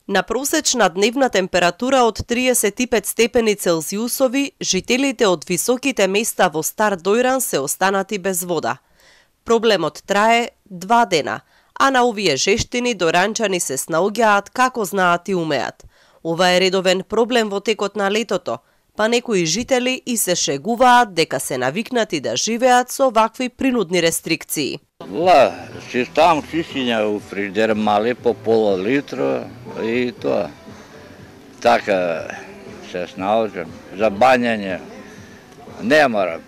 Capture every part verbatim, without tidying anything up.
На просечна дневна температура од триесет и пет степени Целзиусови, жителите од високите места во Стар Дојран се останати без вода. Проблемот трае два дена, а на овие жештини доранчани се снаоѓаат како знаат и умеат. Ова е редовен проблем во текот на летото, па некои жители и се шегуваат дека се навикнати да живеат со вакви принудни рестрикции. Ла, си ставам чистиња у фрижидер мали по пола литра и тоа. Така се снаоѓам. За бањање не мора.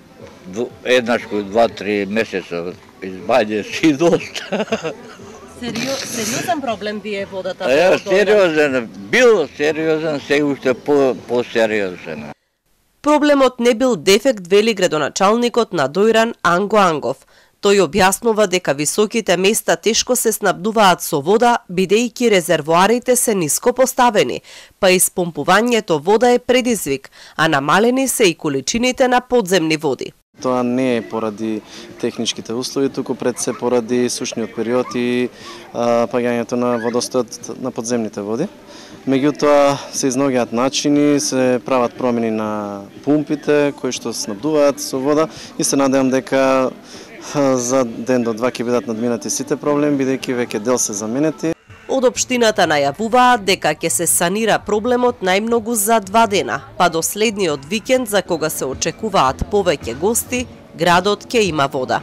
Еднаш кој два-три месеца избање си доста. Сериозен проблем ви е водата? Е, сериозен, бил сериозен, се уште по, по-сериозен. Проблемот не бил дефект, вели градоначалникот на Дојран Анго Ангов. Тој објаснува дека високите места тешко се снабдуваат со вода, бидејќи резервоарите се ниско поставени, па испомпувањето вода е предизвик, а намалени се и количините на подземни води. Тоа не е поради техничките услови, туку пред се поради сушниот период и паѓањето на водостојот на подземните води. Меѓутоа се изнаоѓаат начини, се прават промени на пумпите кои што снабдуваат со вода и се надевам дека за ден до два ќе бидат надминати сите проблеми, бидејќи веќе дел се заменети. Од општината најавуваат дека ќе се санира проблемот најмногу за два дена, па до следниот викенд за кога се очекуваат повеќе гости, градот ќе има вода.